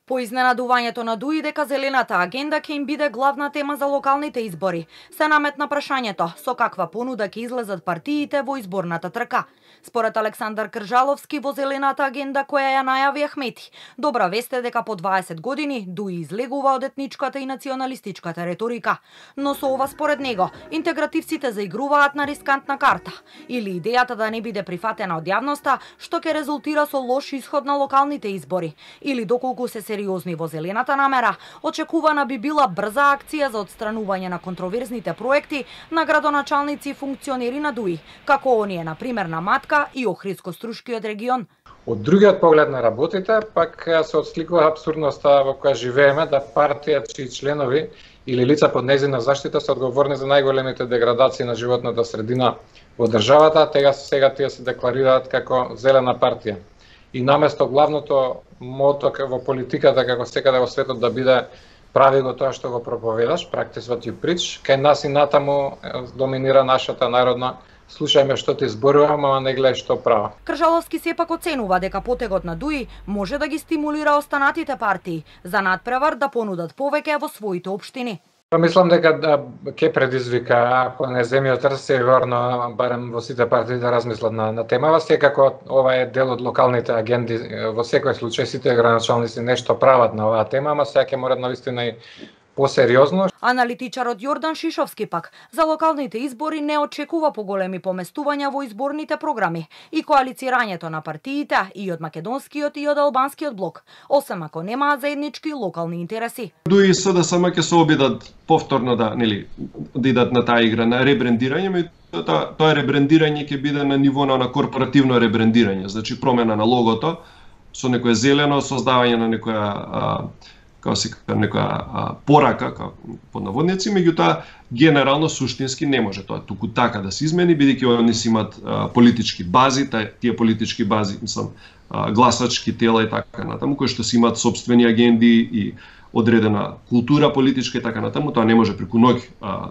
По изненадувањето на ДУИ дека зелената агенда ќе им биде главна тема за локалните избори, се наметна прашањето со каква понуда ќе излезат партиите во изборната трка. Според Александар Кржаловски, во зелената агенда која ја најави Ахмети, добра вест е дека по 20 години ДУИ излегува од етничката и националистичката реторика. Но со ова според него, интегративците заигруваат на рискантна карта или идејата да не биде прифатена од јавноста, што ќе резултира со лош исход на локалните избори, или доколку се сериозни во зелената намера, очекувана би била брза акција за отстранување на контроверзните проекти на градоначалници и функционери на ДУИ, како оние на пример на Матка и Охридско-Струшкиот регион. Од другиот поглед на работите, пак се отсликува абсурдноста во која живееме, да партија чии членови или лица под нејзина заштита се одговорни за најголемите деградации на животната средина во државата, сега тие се декларираат како зелена партија. И наместо главното мото во политиката како секаде во светот да биде прави го тоа што го проповедаш, practice what you preach, кај нас и натаму доминира нашата народна слушајме што ти зборувам, ама не гледај што права. Кржаловски сепак оценува дека потегот на ДУИ може да ги стимулира останатите партии за надпревар да понудат повеќе во своите општини. Мислам дека ќе предизвика, ако не земјот северно, барем во сите партии да размислат на темава, секако ова е дел од локалните агенди, во секој случај сите градоначалници нешто прават на оваа тема, ама сега ќе морат навистина и посериозно. Аналитичарот Јордан Шишовски пак за локалните избори не очекува поголеми поместувања во изборните програми и коалицирањето на партиите и од македонскиот и од албанскиот блок, освен ако немаат заеднички локални интереси. ДУИ и СДСМ ќе се обидат повторно да идат на таа игра на ребрендирање, тоа ребрендирање ќе биде на ниво на корпоративно ребрендирање, значи промена на логото со некое зелено, создавање на некоја некоја порака, под наводници, меѓутоа генерално суштински не може тоа туку така да се измени, бидејќи они си имат политички бази, тие политички бази гласачки тела и така натаму, кои што си имаат собствени агенди и одредена култура политичка и така натаму, тоа не може преку ноќ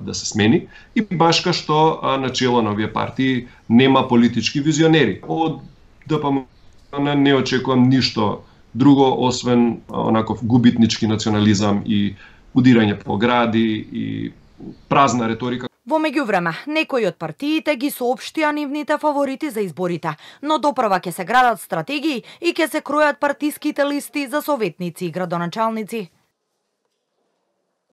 да се смени, и баш ка што начело на овие партии нема политички визионери. Од ДПМН не очекувам ништо друго, освен онаков губитнички национализам и удирање по гради и празна реторика. Во меѓувреме, некои од партиите ги соопштија нивните фаворити за изборите, но допрва ќе се градат стратегии и ќе се кројат партиските листи за советници и градоначалници.